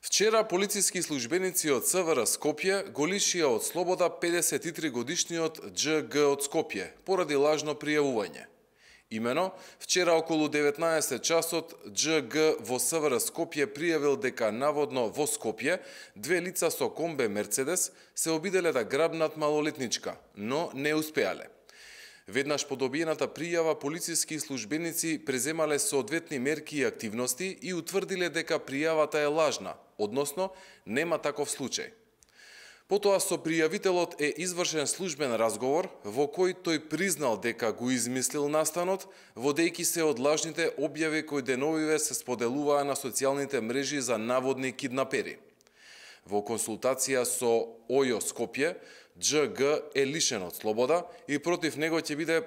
Вчера полициски службеници од СВР Скопје го лишија од слобода 53-годишниот ДЖГ од Скопје поради лажно пријавување. Имено, вчера околу 19 часот ДЖГ во СВР Скопје пријавил дека наводно во Скопје две лица со комбе Мерцедес се обиделе да грабнат малолетничка, но не успеале. Веднаш по добиената пријава, полициски службеници преземале соодветни мерки и активности и утврдиле дека пријавата е лажна, односно нема таков случај. Потоа со пријавителот е извршен службен разговор во кој тој признал дека го измислил настанот, водејќи се од лажните објави кои деновиве се споделуваа на социјалните мрежи за наводни киднапери. Во консултација со ОЈО Скопје, ДЖГ е лишен од слобода и против него ќе биде